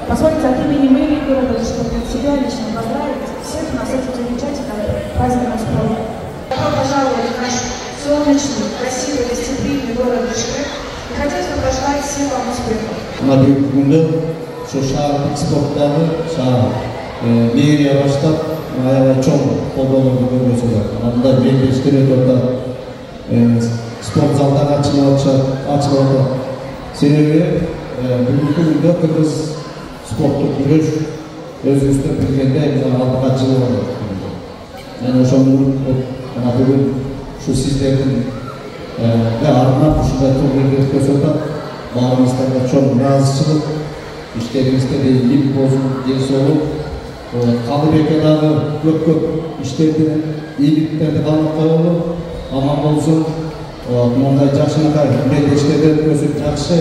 Позвольте от имени мэрии города себя лично поздравить всех нас с этим замечательным праздником спорта. Добро пожаловать в наш солнечный, красивый, гостеприимный город Бишкек. И хотелось бы пожелать всем вам успехов. На бүгүнкүндө ошо шаардык спорттогу шаар мэрия баштап аябай чоң колдоолорду көргөзүп атат. Анда мектептер өтүп атат, спорт залдар ачылып атат. Себеби бүгүнкү күндө кыргыз спорттук күрөш өзүбүздө билгенде алдыга жылып атат. Мен ошону бүгүн ушу сиздердин арнап ушундай турнирди өткөзүп атат. Баарыңыздарга чоң ыраазычылык, иштериңизде ийгилик болсун, ден соолук. Калыбекке дагы көп иштерди, ийгиликтерди каалап коелу, аман болсун. Мындай жакшынакай мелдештерди өткөзүп жакшы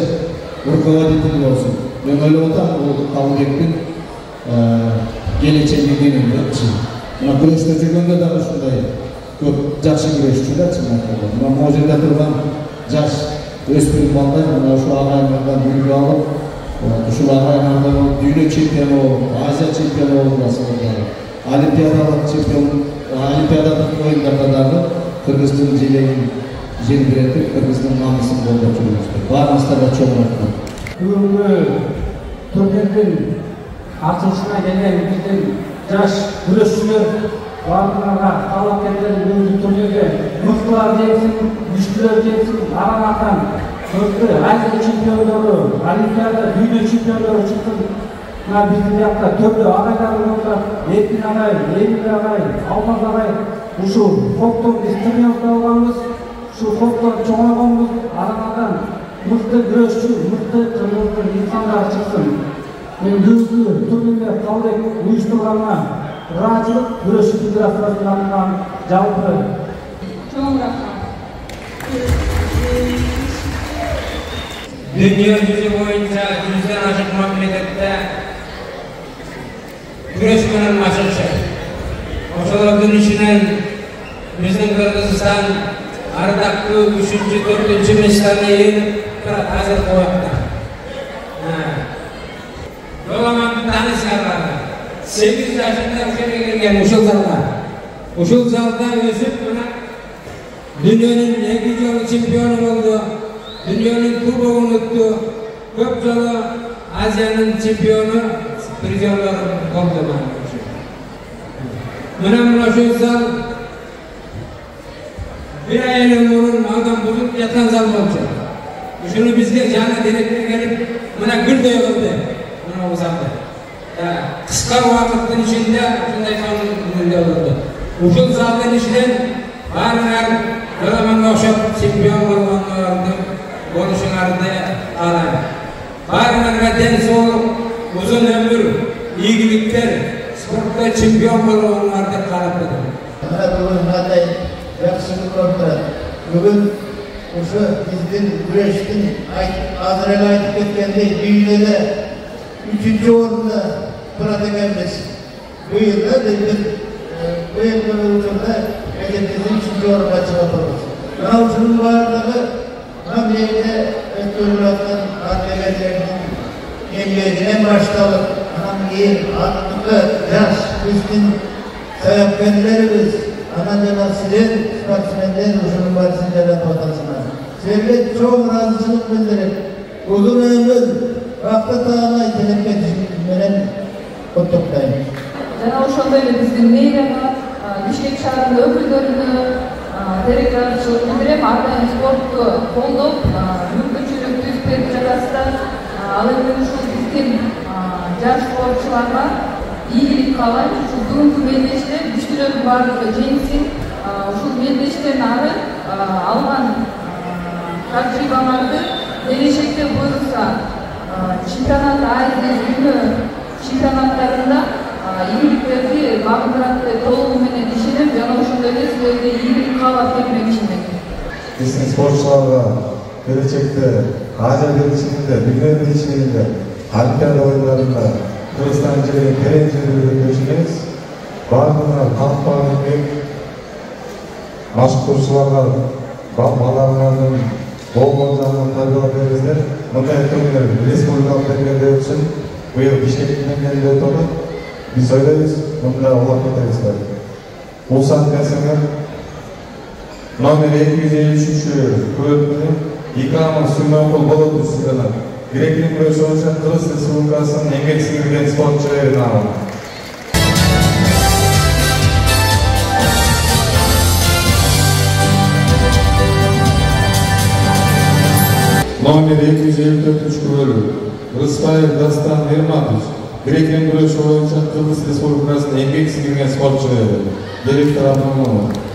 руководитель болсун. Мен ойлоп атам, бул Калыбектин келечегинин депчи. Мына күрөштө жүргөндө дагы ушундай көп жакшы күрөшчүлөр чынакай. Мына могу жерде турган жаш өспүрүм балдар мына ушул агайымдардан үлгү алып, ушул агайымдардан дүйнө чемпиону болуп, Азия чемпиону болуп атат. Олимпиадалык чемпион, олимпиадалык оюндарда дагы Кыргыздын желегин желбиретип, Кыргыздын намысын колдоп жүрүңүздөр. Баарыңыздарга чоң рахмат. Бүгүнкү турнирдин ачылышына келген биздин жаш күрөшчүлөр баарыңарга каалап келген бүгүнкү турнирде мыктылар жеңсин, күчтүүлөр жеңсин, арадан көптү Азия чемпиондору, Олимпиада, дүйнө чемпиондору чыксын. Мына биздин жакта төрдө агайлар болуп, Эркин агай, Эмил агай, Алмаз агай ушул фоктор биз тренировка алганбыз. Ушул фоктор чоңойгонбуз, арадан мыкты күрөшчү, мыкты кыргыздын инсандар чыксын. Мен бүгүнкү турнирде Калыбек уюштурганына ыраазычылык, күрөш федерациясынан жалпы Чоң рахмат. Dünya yüzü boyunca 100'den aşık memlekette güreş menен maşırışır. Oşolardın içinden bizden Kırgızistan ardaklı 3-4 mesleğine yenip hazır koyakta. Yolaman bir tane sarılarla 8 yaşında ülkeye gelgen uşul zalda ösüp dünyanın 2 yolu çempiyonu oldu. Dünyanın kubogunu tuttu. Köp yolu Asya'nın çempiyonu prizyorları oldu. Mına şu zal bir ayının vurun adam bulup yatan zal olacak. Şunu bizge canı direktör gelip mına gül de oldu. Mına o zalda. Kıska vakitin içinde şunday sonun gülde oldu. Uşul zaldın içinden barınar yolamanla oşup çempiyon olmanlardı. Konuşunlardı alayım. Barınarga den soğuk, uzun ömür, iyilikler, sportta çempiyon olmanlardı kalaptı. Bugün haday yaxşılık oldu. Bugün uşu bizdin güreştin azır ele aytıp ketkendey dünyada 3. orunda turat ekenmiz. Bu yılda bu yılda mekendizin 3. orunda çıkartırız. Buna uşunun varlığı memlekte ötürülatın adliyelerinin emniyetinden başlayıp hangi atlıklı yaş üstün sayapkenlerimiz anacana sizin sportsmenler uşunun barışıncadan ortasına sizlerle çok razıçılık bildirip uzun ömür vakti tağına itelepke düşünmeden kutuktayım. Жана ошондой эле биздин мэрияга Бишкек шаарынын өкүлдөрүнө терекчилик билдирем, ар дайым спортту колдоп, мүмкүнчүлүк түзүп берип жатасыздар. Ал эми ушул биздин жаш спортчуларга ийгилик каалайм. Ушул бүгүнкү мелдеште күчтүүлөрдүн баардыгы жеңсин. Ушул мелдештен ары алган тажрыйбаңарды келечекте буюрса чемпионат Азия, дүйнө чемпионаттарында ийгиликтерди багындырат деп толугу менен ишенем. Жана ошондой эле силерге ийгилик каалап келмекчимин. Биздин спортчуларга келечекте Азия белчилигинде, дүйнө белчилигинде, Олимпиада оюндарында Кыргызстан жерин терең жеткирүүгө ишенебиз. Бардыгына кампаган эмгек, башкуруучуларга балдарыңардын болгон жағынан тарбиялап бериңиздер. Мындай турнир республикалык деңгээлде өтсүн. Быйыл Бишкек деңгээлинде өтүп атат. Биз ойлойбуз, мында улап кетебиз. Бул саатка номер 253 күрөтүнү Икрамов Сүймөнкул болот үстүнөн грек-рим күрөшү боюнча Кыргыз Республикасынын эмгек сиңирген спортчуларына алат. Номер 254 күрөлү Рыспаев Дастан Ерматович грек-рим күрөшү боюнча Кыргыз Республикасынын эмгек сиңирген спортчулары директор Абдулмаматов.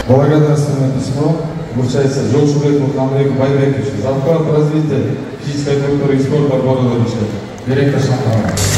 Благодарственное письмо вручается Жолшубекову Хамлеку Байбековичу за вклад в развитие физической культуры и спорта города Бишкек. Директор Шахтара.